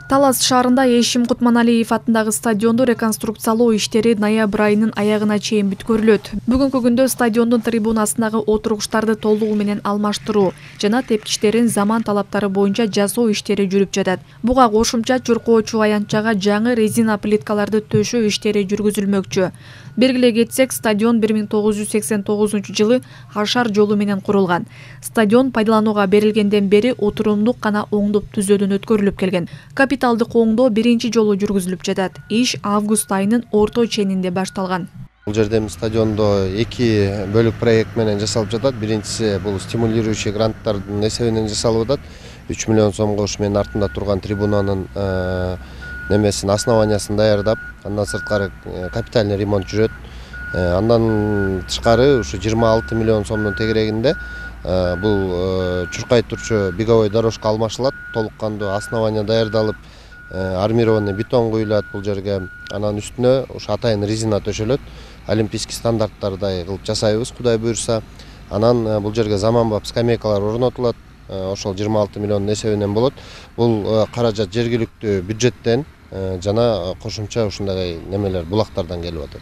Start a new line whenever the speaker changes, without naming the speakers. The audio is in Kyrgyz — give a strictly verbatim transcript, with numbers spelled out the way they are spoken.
Талас шаарында Эшим Кутманалиев атындагы стадионду реконструкциялоо иштери ноябрь айынын аягына чейин бүткөрүлөт. Бүгүнкү күндө стадиондун трибунасындагы отургучтарды толугу менен алмаштыруу жана тепкичтерин заман талаптары боюнча жасоо иштери жүрүп жатат. Буга кошумча чуркоочу аянтчага жаңы резина плиткаларды төшөө иштери жүргүзүлмөкчү. Белгилей кетсек, стадион бир миң тогуз жүз сексен тогузунчу жылы Ашар жолу менен курулган. Стадион пайдаланууга берилгенден бери отурумдук гана оңдоп түзөөдөн өткөрүлүп келген. Капиталдык оңдоо биринчи жолу жүргүзүлүп жатат. Иш август айынын орто ченинде башталган.
Бул жерде стадиондо эки бөлүк проект менен жасалып жатат. Биринчиси бул стимулирующий гранттардын эсебинен жасалып атат. үч миллион сомго ушу менин артымда турган трибунанын немесин основаниясын даярдап, андан сырткары капитальный ремонт жүрөт. Андан тышкары ушу жыйырма алты миллион сомдун тегерегинде бул чуркай турчу беговой дорожка алмашылат. Толук кандуу основания даярдалып, армированный бетон куюлат бул жерге. Анан үстүнө ушу атайын резина төшөлөт. Олимпийский стандарттардай кылып жасайбыз, Кудай буйрса. Анан бул жерге заманбап скамейкалар орнотулат. Ошол жыйырма алты миллион эсебинен болот. Бул каражат жергиликтүү бюджеттен жана кошумча ушундай немелер булактардан келип атат.